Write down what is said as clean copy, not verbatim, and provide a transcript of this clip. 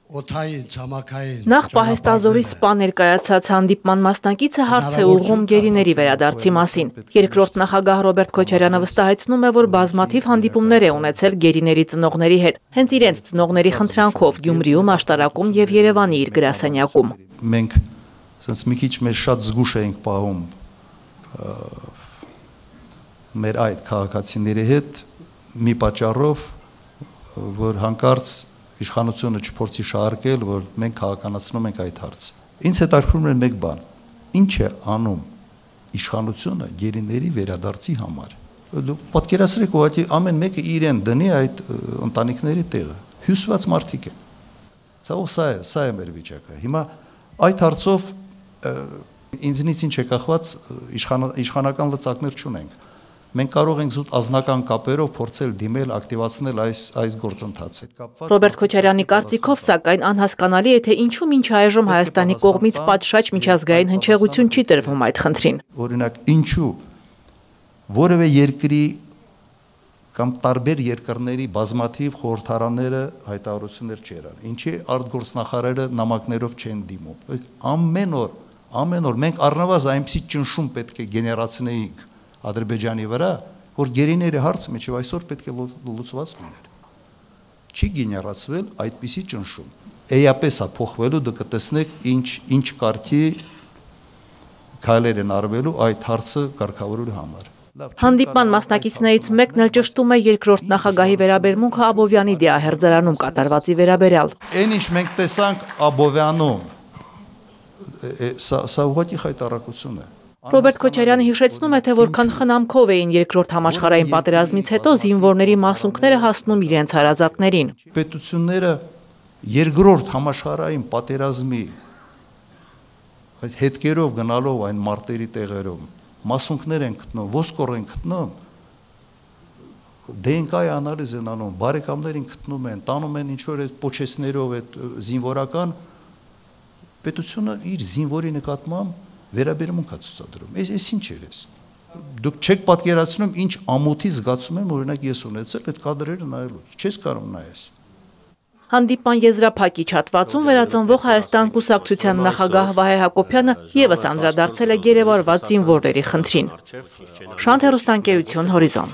Նախ պահեստազորի սպա ներկայացած հանդիպման մասնակիցը հարց է ուղղում գերիների վերադարձի մասին։ Երկրորդ նախագահ Ռոբերտ Քոչարյանը վստահեցնում է, որ բազմաթիվ հանդիպումներ է ունեցել գերիների ծնողների հետ, հենց իրենց ծնողների խնդրանքով Գյումրիում, Աշտարակում եւ Երևանի իր գրասենյակում։ Մենք ասես մի քիչ մեր շատ զգուշ էինք պահում մեր այդ քաղաքացիների հետ մի պատճառով, որ հանկարծ իշխանությունը չփորձի շահարկել, որ մենք քաղաքականացնում ենք այդ հարցը։ Ինձ հետաքրքրում է մեկ բան. ինչ է անում իշխանությունը գերիների վերադարձի համար։ Դուք պատկերացրեք, ուղղակի ամեն մեկը իրեն դնի այդ ընտանիքների տեղը։ Հյուսված մարդիկ են։ Սա է մեր վիճակը։ Հիմա այդ հարցով ինձնից ինչ է կախված, իշխանական լծակներ չունենք։ Մենք կարող ենք զուտ ազնական կապերով փորձել դիմել, ակտիվացնել այս գործընթացը։ Ռոբերտ Քոչարյանի կարծիքով, սակայն անհասկանալի է, թե ինչու մինչ այժմ Հայաստանի կողմից պատշաճ միջազգային հնչեղություն չի տրվում այդ խնդրին։ Օրինակ, ինչու որևէ երկրի կամ տարբեր երկրների բազմաթիվ խորհրդարանները հայտարարություններ չերան։ Ինչի արտգործնախարարները նամակներով չեն դիմում։ Ամեն օր մենք առնվազն այնպիսի ճնշում պետք է գեներացնեինք Ադրբեջանի վրա, որ գերիների հարցը միջև այսօր պետք է լուծված լիներ։ Չի գեներացվել այդպիսի ճնշում։ Էապես է փոխվելու, դուք կտեսնեք ինչ կարգի քայլեր են արվելու այդ հարցը կարգավորելու համար։ Հանդիպման մասնակիցներից մեկն էլ ճշտում է երկրորդ նախագահի վերաբերմունքը Աբովյանի դիահերձարանում կատարվածի վերաբերյալ։ Այն ինչ մենք տեսանք Աբովյանում, սա ուղղակի խայտառակություն է։ Ռոբերտ Քոչարյանը հիշեցնում է, թե որքան խնամքով էին երկրորդ համաշխարհային պատերազմից հետո զինվորների մասունքները հասնում իրենց հարազատներին։ Պետությունները երկրորդ համաշխարհային պատերազմի հետքերով գնալով այն մարտերի տեղերում մասունքներ են գտնում, ոսկոր են գտնում, DNK-ի անալիզ են անում, բարեկամներին գտնում են, տանում են ինչ-որ պոչեսներով այդ զինվորական պետությունը իր զինվորի նկատմամբ վերաբերմունք է ցուցադրում։ Այս ինչ էր էս։ Դուք չեք պատկերացնում ինչ ամոթի զգացում եմ, օրինակ ես ունեցել այդ կադրերը նայելուց։ Չես կարող նայես։ Հանդիպման եզրափակիչ հատվածում վերածնվող Հայաստան կուսակցության նախագահ Վահե Հակոբյանը ևս անդրադարձել է գերեվարված զինվորների խնդրին։ Շանթ հեռուստաընկերություն Հորիզոն։